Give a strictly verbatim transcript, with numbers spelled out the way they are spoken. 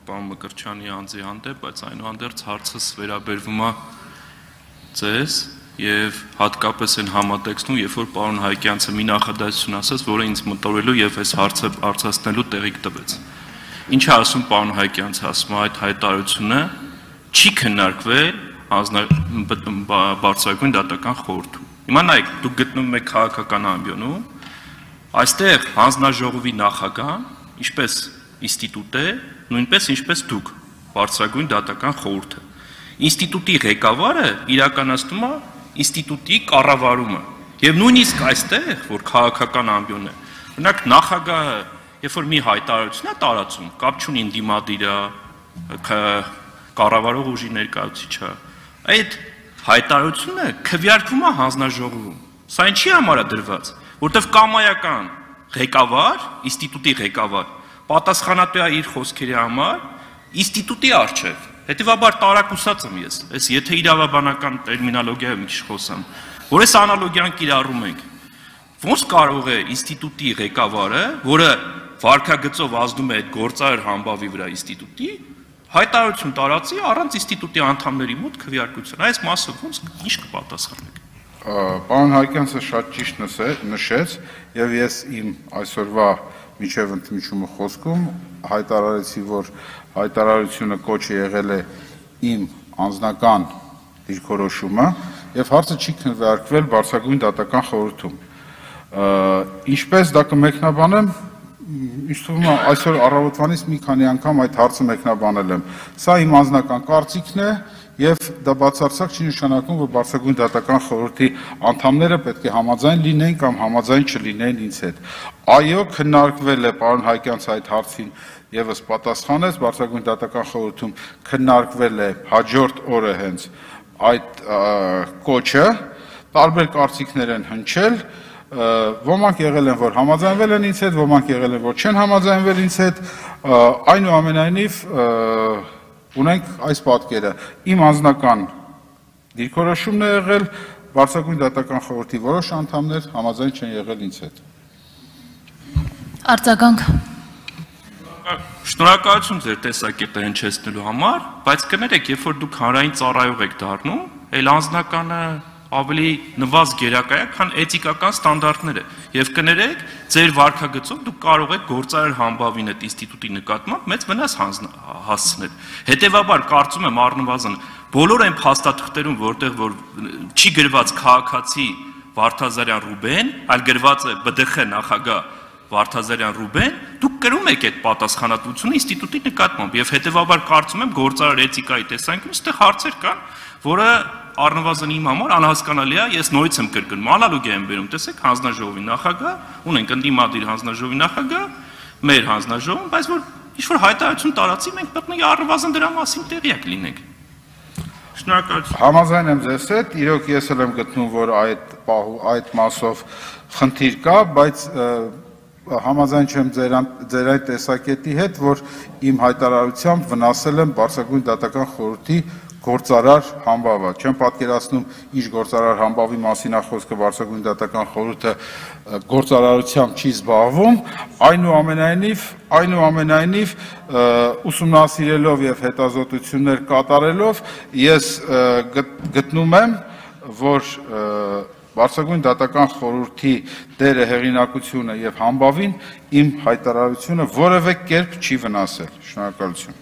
պարոն Մկրտչյանի անձի հանդեպ, բայց այնուհանդերձ հարցս վերաբերվում է ձեզ եւ հատկապես այն համատեքստում, երբ որ պարոն Հայկյանցը մի նախադասություն ասաց, որը ինձ մտորելու եւ այս հարցը արծացնելու տեղիք տվեց։ Ինչ է ասում պարոն Հայկյանցը, ասում է այդ հայտարարությունը չի քննարկվել բարձրագույն դատական խորհրդում։ Հիմա նայեք, դուք գտնվում եք քաղաքական ամբիոնում, այստեղ հանձնաժողովի նախագահան, ինչպես ինստիտուտ է, նույնպես ինչպես դուք, բարձրագույն դատական խորհուրդը։ Ինստիտուտի ղեկավարը իրականացնում է ինստիտուտի կառավարումը։ Եվ նույնիսկ այստեղ, որ քաղաքական ամբիոն է, օրինակ նախագահը, երբ որ մի հայտարարություն է տարածում, կապ չունի ընդդիմադիր է, կառավարող ուժի ներկայացուցիչ է, այդ հայտարարությունը քվեարկվում է հանձնաժողովում։ Սա ինչի համար է դրված, որտեղ կամայական ղեկավար, ինստիտուտի ղեկավար, պատասխանատու է իր խոսքերի համար ինստիտուտի առջև։ Հետևաբար տարակուսած եմ ես, այս եթե իրավաբանական տերմինոլոգիայով մի քիչ խոսամ, որ այս անալոգիան կիրառում ենք, ոնց կարող է ինստիտուտի ղեկավարը, որը վարքագծով ազդում է այդ գործարար համբավի վրա ինստիտուտի, հայտարարություն տարածի առանց ինստիտուտի անդամների մոտ քվեարկության։ Այս մասը ոնց ինչ կպատասխանեք։ Պարոն Հայկյանցը շատ ճիշտ նշեց, եւ ես իմ այսօրվա միջև ընդմիջումը խոսքում հայտարարեցի, որ հայտարարությունը կոչ է եղել է իմ անձնական դիրքորոշումը եւ հարցը չի քննարկվել բարձրագույն դատական խորհրդում։ Ինչպես դա կմեկնաբանեմ, ինձ թվում է այսօր առավոտվանից մի քանի անգամ այդ հարցը մեկնաբանել եմ։ Սա իմ անձնական կարծիքն է եւ դա բացարձակ չի նշանակում, որ բարձրագույն դատական խորհրդի անդամները պետք է համաձայն լինեն կամ համաձայն չլինեն ինձ հետ։ Այո, քննարկվել է պարոն Հայկյանց այդ հարցին եւս պատասխանեց, բարձրագույն դատական խորհրդում քննարկվել է հաջորդ օրը հենց այդ կոչը, տարբեր կարծիքներ են հնչել, ոմանք եղել են, որ համաձայնվել են ինձ հետ, ոմանք եղել են, որ չեն համաձայնվել ինձ հետ, այնուամենայնիվ ունենք այս պատկերը, իմ անձնական դիրքորոշումն է եղել, բարձրագույն դատական խորհրդի որոշ անդամներ համաձայն չեն եղել ինձ հետ։ Արձագանք։ Շնորհակալություն ձեր տեսակետը հնչեցնելու համար, բայց կներեք, երբ որ դուք հանրային ծառայող եք դառնում, այլ անձնականը ավելի նվազ գերակայ է, քան էթիկական ստանդարտները։ Եվ կներեք, ձեր վարքագծով դուք կարող եք գործարար համբավին այդ ինստիտուտի նկատմամբ մեծ վնաս հասցնել։ Հետևաբար կարծում եմ առնվազն բոլոր այն փաստաթղթերում, որտեղ որ չի գրված քաղաքացի Վարդազարյան Ռուբեն, այլ գրված է B D X նախագահ Վարդազարյան Ռուբեն, դուք կրում եք այդ պատասխանատվությունը ինստիտուտի նկատմամբ եւ հետեւաբար կարծում եմ գործարար էթիկայի տեսանկյունից այդտեղ հարցեր կան, որը առնվազն իմ համար անհասկանալի է, ես նորից եմ կրկնում, անալոգիա եմ բերում, տեսեք, հանձնաժողովի նախագահ, ունենք ընդդիմադիր հանձնաժողովի նախագահ, մեր հանձնաժողովում, բայց որ ինչ-որ հայտարարություն տարածի, մենք պետք է առնվազն դրա մասին տեղյակ լինենք։ Շնորհակալություն։ Համաձայն եմ ձեզ հետ, իրոք ես էլ եմ գտնում, որ այդ այդ մասով խնդիր կա, բայց համաձայն չեմ ձեր այդ տեսակետի հետ, որ իմ հայտարարությամբ վնասել եմ բարձրագույն դատական խորհրդի գործարար համբավը։ Չեմ պատկերացնում ինչ գործարար համբավի մասին է խոսքը, բարձրագույն դատական խորհուրդը գործարարությամբ չի զբաղվում, այնուամենայնիվ, այնուամենայնիվ ուսումնասիրելով եւ հետազոտություններ կատարելով ես գտնում եմ, որ բարձրագույն դատական խորհրդի դերը, հեղինակությունը եւ համբավին իմ հայտարարությունը որևէ կերպ չի վնասել։ Շնորհակալություն։